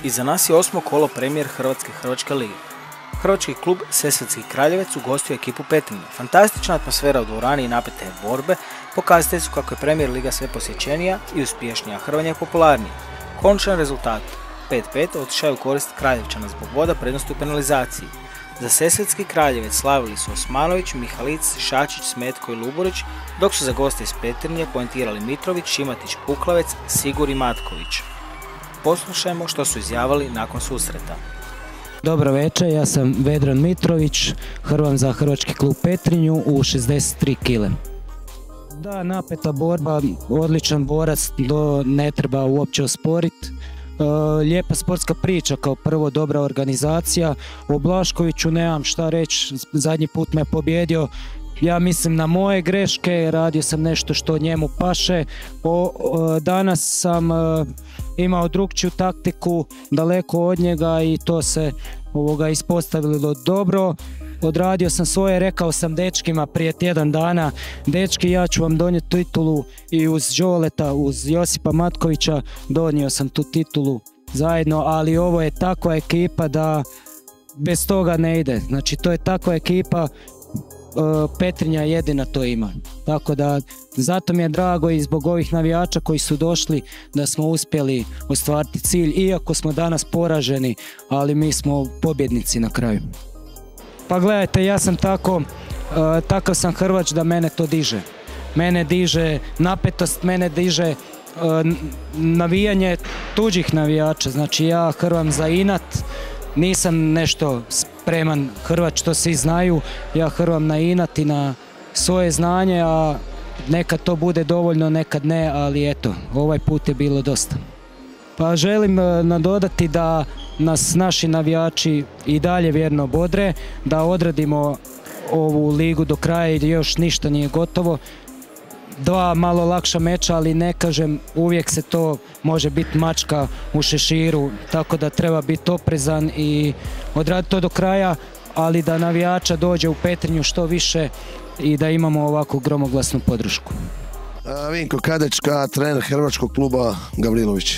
Iza nas je 8. kolo premijer Hrvatske lige. Hrvački klub Sesvetski Kraljevec ugostio ekipu Petrinje. Fantastična atmosfera u dvorani i napete borbe pokazatelji su kako je premijer liga sve posjećenija i uspješnija, a Hrvanje je popularniji. Konačan rezultat 5-5 otišao je u korist Kraljevčana zbog voda prednosti u penalizaciji. Za Sesvetski Kraljevec slavili su Osmanović, Mihalic, Šačić, Smetko i Luburić, dok su za goste iz Petrinje poentirali Mitrović, Šimatić, Puklavec, Sigur i Matković. Poslušajmo što su izjavili nakon susreta. Dobro večer, ja sam Vedran Mitrović, hrvam za Hrvački klub Petrinju u 63 kg. Da, napeta borba, odličan borac, ne treba uopće osporiti. Lijepa sportska priča, kao prvo dobra organizacija. O Blaškoviću nemam šta reći, zadnji put me pobjedio. Ja mislim na moje greške, radio sam nešto što njemu paše. Danas sam imao drukčiju taktiku, daleko od njega i to se ispostavilo dobro. Odradio sam svoje, rekao sam dečkima prije tjedan dana, dečki, ja ću vam donijeti titulu, i uz Đoleta, uz Josipa Matkovića donio sam tu titulu zajedno, ali ovo je takva ekipa da bez toga ne ide. Znači, to je takva ekipa, Petrinja jedina to ima. Tako da, zato mi je drago i zbog ovih navijača koji su došli da smo uspjeli ostvariti cilj, iako smo danas poraženi, ali mi smo pobjednici na kraju. Pa gledajte, ja sam takav sam Hrvač da mene to diže. Mene diže napetost, mene diže navijanje tuđih navijača. Znači, ja hrvam za inat, nisam nešto spreman Hrvač, to svi znaju. Ja hrvam na inat i na svoje znanje, a nekad to bude dovoljno, nekad ne, ali eto, ovaj put je bilo dosta. Pa želim nadodati da nas naši navijači i dalje vjerno bodre, da odradimo ovu ligu do kraja i još ništa nije gotovo. Dva malo lakša meča, ali ne kažem, uvijek se to može biti mačka u šeširu, tako da treba biti oprezan i odraditi to do kraja, ali da navijača dođe u Petrinju što više i da imamo ovakvu gromoglasnu podršku. Vinko Kadečka, trener Hrvačkog kluba Gavrilović.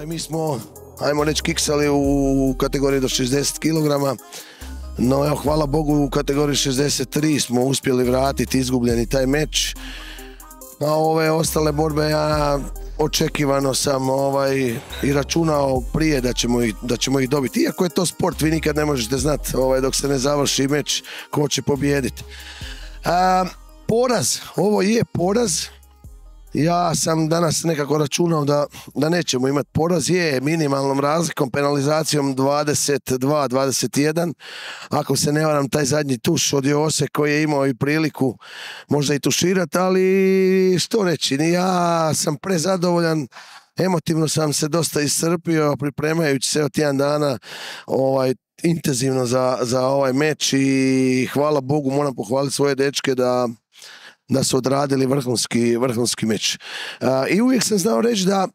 Mi smo, ajmo reći, kiksali u kategoriji do 60 kg, no evo, hvala Bogu, u kategoriji 63 smo uspjeli vratiti izgubljeni taj meč. A ove ostale borbe ja očekivano sam i računao prije da ćemo ih dobiti. Iako je to sport, vi nikad ne možete znati dok se ne završi meč ko će pobijediti. Poraz, ovo je poraz. Ja sam danas nekako računao da nećemo imati poraz, je minimalnom razlikom, penalizacijom 22-21. Ako se ne varam, taj zadnji tuš od Jose koji je imao i priliku možda i tuširati, ali što reći, ja sam prezadovoljan, emotivno sam se dosta iscrpio pripremajući se od tjedan dana intenzivno za ovaj meč i hvala Bogu, moram pohvaliti svoje dečke da su odradili vrhunski meč. I uvijek sam znao reći da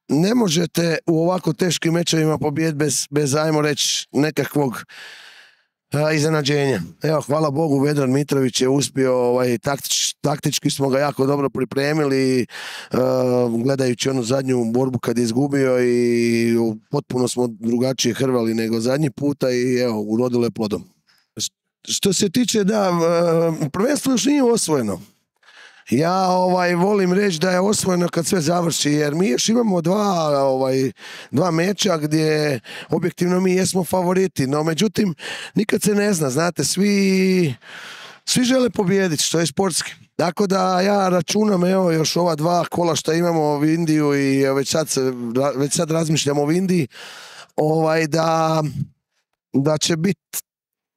ne možete u ovako teškim mečevima pobijediti bez, ajmo reći, nekakvog iznenađenja. Evo, hvala Bogu, Vedran Mitrović je uspio, taktički smo ga jako dobro pripremili, gledajući onu zadnju borbu kad je izgubio, i potpuno smo drugačije hrvali nego zadnji puta i evo, urodilo je plodom. Što se tiče, da, prvenstvo još nije osvojeno. Ja volim reći da je osvojeno kad sve završi, jer mi još imamo dva meča gdje objektivno mi jesmo favoriti, no međutim nikad se ne zna, znate, svi žele pobijediti, što je sportski. Tako da ja računam, evo, još ova dva kola što imamo u Indiju i već sad razmišljamo o Indiji, da će biti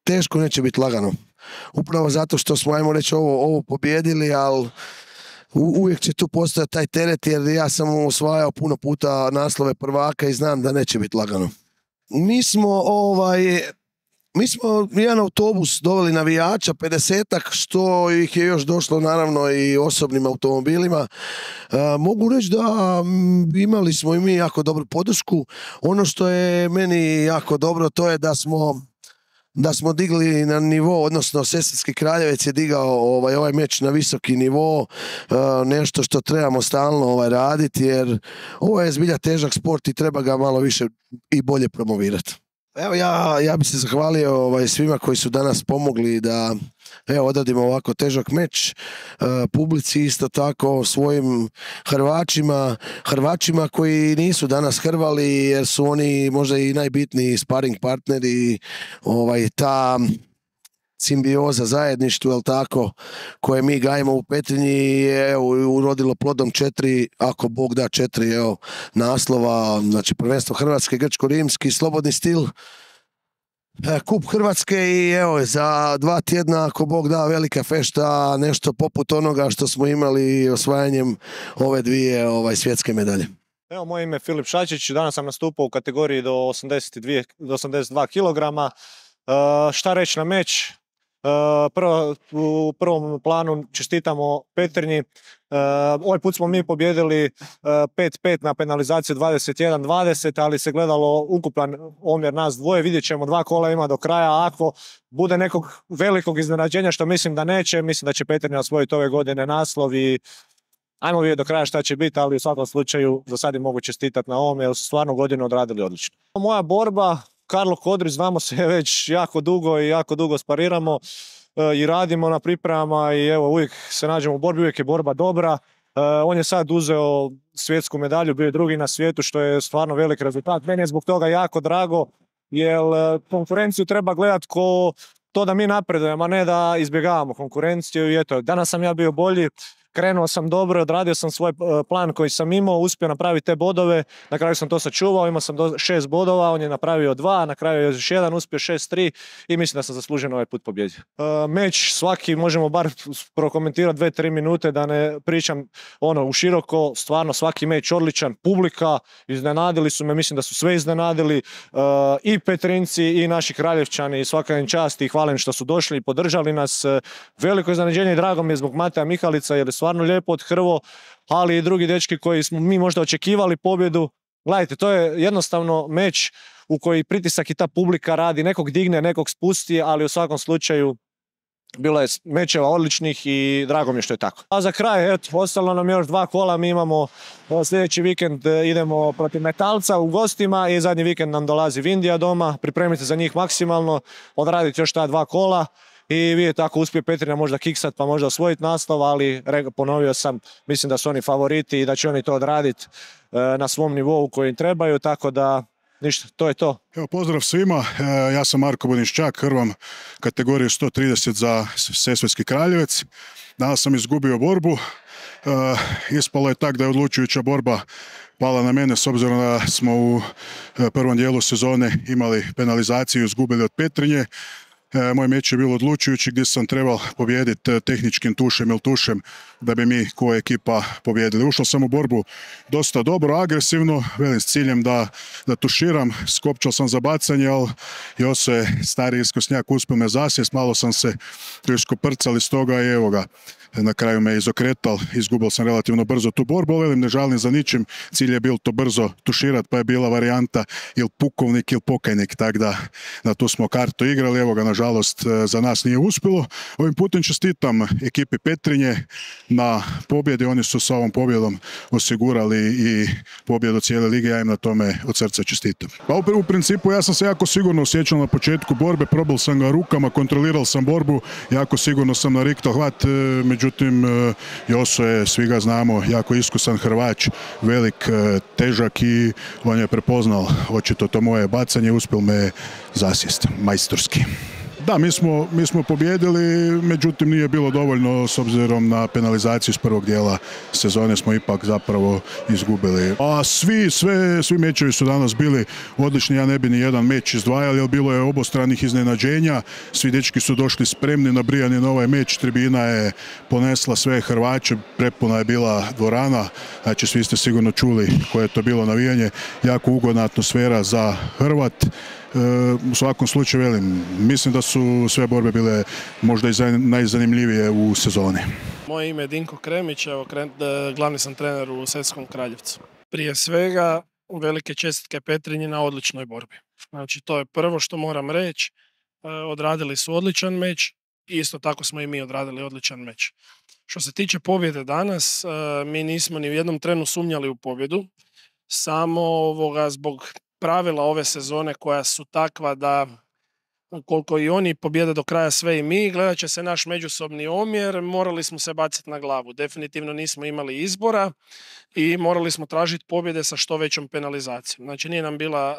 teško, neće biti lagano. Upravo zato što smo, ajmo reći, ovo pobjedili, ali uvijek će tu postojati taj teret, jer ja sam osvajao puno puta naslove prvaka i znam da neće biti lagano. Mi smo jedan autobus doveli navijača, 50-ak, što ih je još došlo naravno i osobnim automobilima. Mogu reći da imali smo i mi jako dobru podršku. Ono što je meni jako dobro, to je da smo da smo digli na nivo, odnosno Sesvetski Kraljevec je digao ovaj meč na visoki nivo, nešto što trebamo stalno raditi, jer ovo je zbilja težak sport i treba ga malo više i bolje promovirati. Evo ja bi se zahvalio svima koji su danas pomogli da odradimo ovako težak meč, publici isto tako, svojim Hrvačima koji nisu danas hrvali jer su oni možda i najbitniji sparing partneri, ta simbioza, zajedništvo, jel tako, koje mi gajimo u Petrinji je urodilo plodom 4, ako Bog da 4 naslova, znači prvenstvo Hrvatske, grčko-rimski, slobodni stil, kup Hrvatske i za 2 tjedna, ako Bog da, velika fešta, nešto poput onoga što smo imali osvajanjem ove 2 svjetske medalje. Evo, moje ime je Filip Šačić, danas sam nastupao u kategoriji do 82 kg. Šta reći na meč? U prvom planu čestitamo Petrinji. Ovaj put smo mi pobjedili 5-5 na penalizaciju 21-20, ali se gledalo ukupan omjer nas dvoje. Vidjet ćemo, 2 kola ima do kraja. Ako bude nekog velikog iznenađenja, što mislim da neće, mislim da će Petrinja osvojiti ove godine naslov i ajmo vidjeti do kraja šta će biti, ali u svakom slučaju za sad im mogu čestitati na ovome jer su stvarno godinu odradili odlično. Moja borba, Karlo Kodrić, znamo se već jako dugo i jako dugo spariramo i radimo na pripremama i evo uvijek se nađemo u borbi, uvijek je borba dobra. On je sad uzeo svjetsku medalju, bio je drugi na svijetu, što je stvarno velik rezultat. Meni je zbog toga jako drago jer konkurenciju treba gledati ko to da mi napredujemo, a ne da izbjegavamo konkurenciju. I eto, danas sam ja bio bolji. Krenuo sam dobro, odradio sam svoj plan koji sam imao, uspio napraviti te bodove, na kraju sam to sačuvao, imao sam 6 bodova, on je napravio 2, na kraju je još 1, uspio 6-3 i mislim da sam zasluženo ovaj put pobjedio. Meč svaki možemo bar prokomentirati 2-3 minute, da ne pričam u široko, stvarno svaki meč odličan, publika, iznenadili su me, mislim da su sve iznenadili, i Petrinci i naši Kraljevčani, svaka im čast i hvala im što su došli i podržali nas. Veliko iznenađenje i drago mi je zbog Mateja Mihalica jer je stvarno lijepo odhrvo, ali i drugi dečki koji smo mi možda očekivali pobjedu. Gledajte, to je jednostavno meč u koji pritisak i ta publika radi, nekog digne, nekog spusti, ali u svakom slučaju bilo je mečeva odličnih i drago mi je što je tako. A za kraj, ostalo nam još 2 kola, mi imamo sljedeći vikend idemo protiv Metalca u gostima i zadnji vikend nam dolazi Vindija doma, pripremite za njih maksimalno, odraditi još ta 2 kola. I vidite, ako uspije Petrinja možda kiksat pa možda osvojiti naslov, ali ponovio sam, mislim da su oni favoriti i da će oni to odraditi na svom nivou koji im trebaju, tako da ništa, to je to. Evo, pozdrav svima, ja sam Marko Budinščak, hrvam kategoriju 130 za Sesvetski Kraljevec. Danas sam izgubio borbu, ispalo je tak da je odlučujuća borba pala na mene s obzirom da smo u prvom dijelu sezone imali penalizaciju i izgubili od Petrinje. Moj meč je bilo odlučujući gdje sam trebao pobijediti tehničkim tušem ili tušem da bi mi kao ekipa pobijedili. Ušao sam u borbu dosta dobro, agresivno, velim s ciljem da tuširam, skopčao sam za bacanje, ali Joso je stari iskosnjak, uspio me zasjest, malo sam se iskoprcali s toga i evo ga. Na kraju me izokretal, izgubio sam relativno brzo tu borbu, ali ne žalim za ničim, cilj je bilo to brzo tuširat, pa je bila varijanta ili pukovnik ili pokajnik, tako da tu smo kartu igrali, evo ga, nažalost za nas nije uspjelo. Ovim putem čestitam ekipi Petrinje na pobjedi, oni su sa ovom pobjedom osigurali i pobjedu cijele lige, ja im na tome od srca čestitam. Pa u principu ja sam se jako sigurno osjećao na početku borbe, probal sam ga rukama, kontrolirao sam borbu, jako sigurno sam nariktao hvat, međutim, Joso je, svi ga znamo, jako iskusan Hrvač, velik, težak i on je prepoznal očito to moje bacanje, uspjel me zasjest, majstorski. Da, mi smo pobijedili, međutim nije bilo dovoljno s obzirom na penalizaciju iz prvog dijela sezone smo ipak zapravo izgubili. A svi mečevi su danas bili odlični, ja ne bi ni jedan meč izdvajali, jer bilo je obostranih iznenađenja, svi dečki su došli spremni, nabrijani na ovaj meč, tribina je ponesla sve Hrvače, prepuna je bila dvorana, znači svi ste sigurno čuli koje je to bilo navijanje, jako ugodna atmosfera za Hrvat. U svakom slučaju, velim, mislim da su sve borbe bile možda i najzanimljivije u sezoni. Moje ime je Dinko Kremić, evo, glavni sam trener u Sesvetskom Kraljevcu. Prije svega, velike čestitke Petrinji na odličnoj borbi. Znači, to je prvo što moram reći. odradili su odličan meč i isto tako smo i mi odradili odličan meč. Što se tiče pobjede danas, mi nismo ni u jednom trenu sumnjali u pobjedu, samo zbog pravila ove sezone koja su takva da koliko i oni pobjede do kraja sve i mi, gledat će se naš međusobni omjer, morali smo se baciti na glavu. Definitivno nismo imali izbora i morali smo tražiti pobjede sa što većom penalizacijom. Znači nije nam bila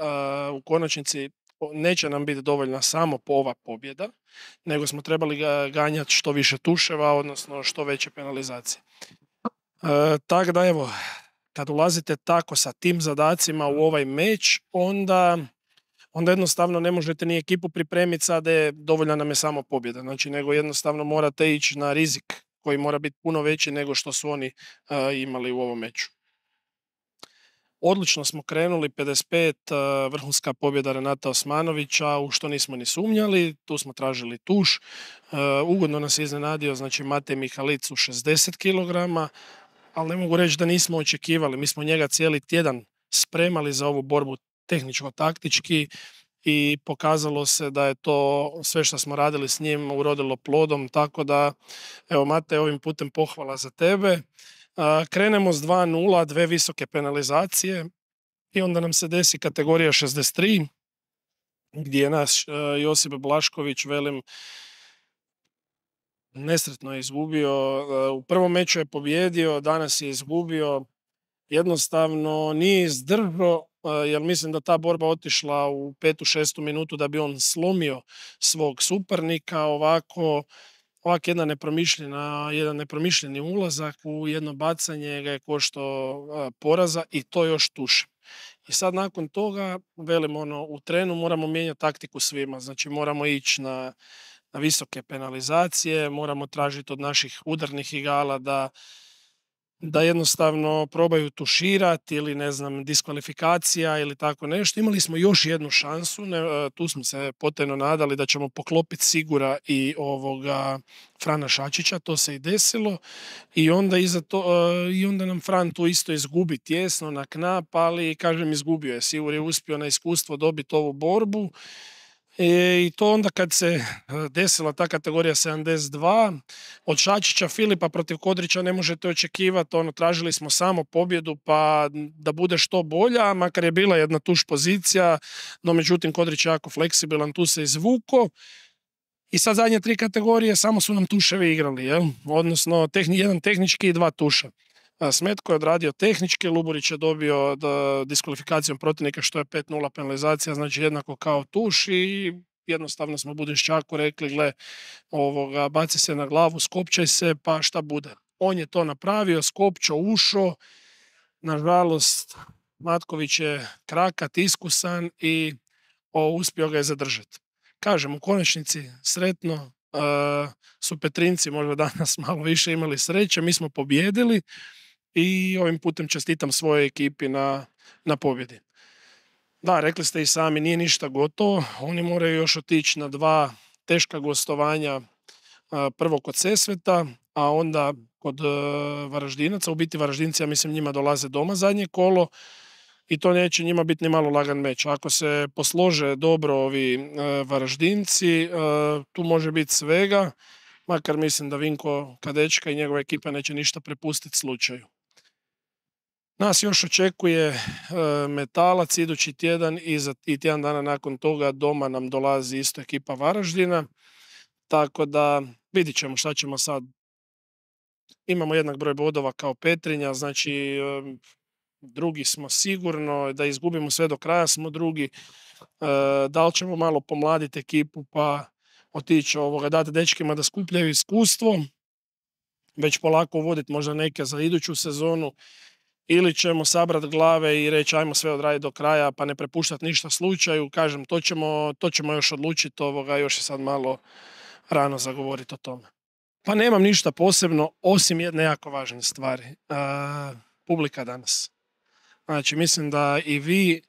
u konačnici, neće nam biti dovoljna samo ova pobjeda, nego smo trebali ganjati što više tuševa, odnosno što veće penalizacije. Tako da evo, kad ulazite tako sa tim zadacima u ovaj meč, onda jednostavno ne možete ni ekipu pripremiti sad da dovoljna nam je samo pobjeda. Znači, nego jednostavno morate ići na rizik koji mora biti puno veći nego što su oni imali u ovom meču. Odlično smo krenuli, 55, vrhunska pobjeda Renata Osmanovića, u što nismo ni sumnjali, tu smo tražili tuš. Ugodno nas je iznenadio, znači Matej Mihalic u 60 kg, ali ne mogu reći da nismo očekivali. Mi smo njega cijeli tjedan spremali za ovu borbu tehničko-taktički i pokazalo se da je to sve što smo radili s njim urodilo plodom, tako da, evo Matej, ovim putem pohvala za tebe. Krenemo s 2-0, 2 visoke penalizacije i onda nam se desi kategorija 63, gdje je naš Josip Blašković, velim, nesretno je izgubio. U prvom meču je pobjedio, danas je izgubio. Jednostavno nije izdržao, jer mislim da ta borba otišla u 5. 6. minutu da bi on slomio svog suparnika. Ovako jedan nepromišljeni ulazak u jedno bacanje ga je koštao poraza i to još tuše. I sad nakon toga, velim, u trenu moramo mijenjati taktiku svima. Znači moramo ići na visoke penalizacije, moramo tražiti od naših udarnih igala da jednostavno probaju tuširati ili ne znam, diskvalifikacija ili tako nešto. Imali smo još jednu šansu, tu smo se potajno nadali da ćemo poklopiti Sigura i Frana Šačića, to se i desilo i onda nam Fran tu isto izgubi tjesno na knap, ali kažem izgubio je. Sigur je uspio na iskustvo dobiti ovu borbu. I to onda kad se desila ta kategorija 72, od Šačića Filipa protiv Kodrića ne možete očekivati, tražili smo samo pobjedu pa da bude što bolja, makar je bila jedna tuš pozicija, no međutim Kodrić je jako fleksibilan, tu se izvuko. I sad zadnje 3 kategorije samo su nam tuševi igrali, jel? Odnosno jedan tehnički i 2 tuša. Smetko je odradio tehnički, Luburić je dobio diskvalifikacijom protivnika što je 5-0 penalizacija, znači jednako kao tuš i jednostavno smo Budišćaku rekli, gle, baci se na glavu, skopčaj se, pa šta bude. On je to napravio, skopčao, ušao, nažalost Matković je krakat, iskusan i uspio ga je zadržati. Kažem, u konačnici sretno, su Petrinci možda danas malo više imali sreće, mi smo pobjedili i ovim putem čestitam svojoj ekipi na pobjedi. Da, rekli ste i sami, nije ništa gotovo, oni moraju još otići na 2 teška gostovanja, prvo kod Sesveta, a onda kod Varaždinaca. U biti Varaždinci, ja mislim, njima dolaze doma zadnje kolo i to neće njima biti ni malo lagan meč. Ako se poslože dobro ovi Varaždinci, tu može biti svega, makar mislim da Vinko Kadečka i njegova ekipa neće ništa prepustiti slučaju. Nas još očekuje Metalac idući tjedan i tjedan dana nakon toga doma nam dolazi isto ekipa Varaždina, tako da vidit ćemo šta ćemo sad. Imamo jednak broj bodova kao Petrinja, znači drugi smo sigurno, da izgubimo sve do kraja smo drugi. Da li ćemo malo pomladiti ekipu pa otići dati dečkima da skupljaju iskustvo, već polako uvoditi možda neke za iduću sezonu, ili ćemo sabrati glave i reći ajmo sve odraditi do kraja pa ne prepuštati ništa slučaju. Kažem, to ćemo još odlučiti, još je sad malo rano za govoriti o tome. Pa nemam ništa posebno osim jedne jako važne stvari. Publika danas. Znači mislim da i vi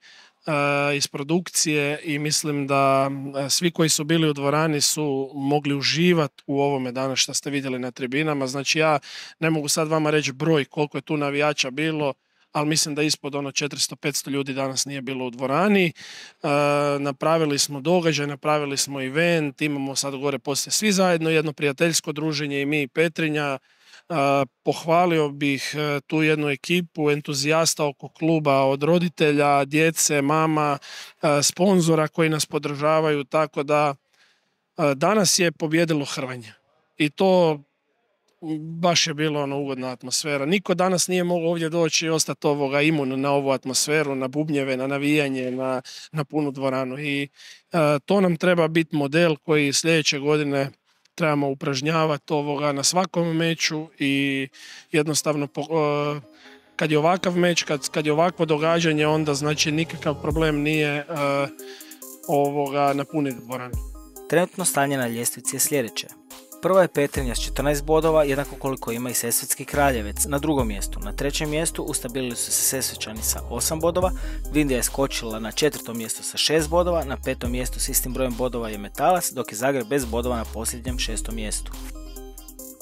iz produkcije i mislim da svi koji su bili u dvorani su mogli uživati u ovome danas što ste vidjeli na tribinama. Znači ja ne mogu sad vama reći broj koliko je tu navijača bilo, ali mislim da ispod 400-500 ljudi danas nije bilo u dvorani. Napravili smo događaj, napravili smo event, imamo sad gore poslije svi zajedno jedno prijateljsko druženje i mi i Petrinja. Pohvalio bih tu jednu ekipu entuzijasta oko kluba, od roditelja, djece, mama, sponzora koji nas podržavaju, tako da danas je pobjedilo Hrvanje. I to baš je bilo ugodna atmosfera. Niko danas nije mogao ovdje doći i ostati imun na ovu atmosferu, na bubnjeve, na navijanje, na punu dvoranu. I to nam treba biti model koji sljedeće godine trebamo upražnjavati na svakom meču i jednostavno kad je ovakav meč, kad je ovakvo događanje, onda znači nikakav problem nije napuniti dvoranu. Trenutno stanje na ljestvici je sljedeće. Prva je Petrinja s 14 bodova, jednako koliko ima i Sesvetski Kraljevec na drugom mjestu. Na trećem mjestu ustabilili su se Sesvečani sa 8 bodova, Vindija je skočila na četvrtom mjestu sa 6 bodova, na petom mjestu s istim brojem bodova je Metalac, dok je Zagreb bez bodova na posljednjem 6. mjestu.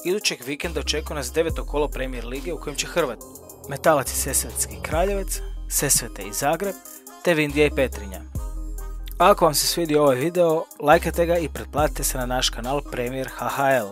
Idućeg vikenda očekuje nas 9. kolo Premier lige u kojem će Hrvat, Metalac i Sesvetski Kraljevec, Sesvete i Zagreb, te Vindija i Petrinja. Ako vam se svidio ovaj video, lajkajte ga i pretplatite se na naš kanal Premier HHL.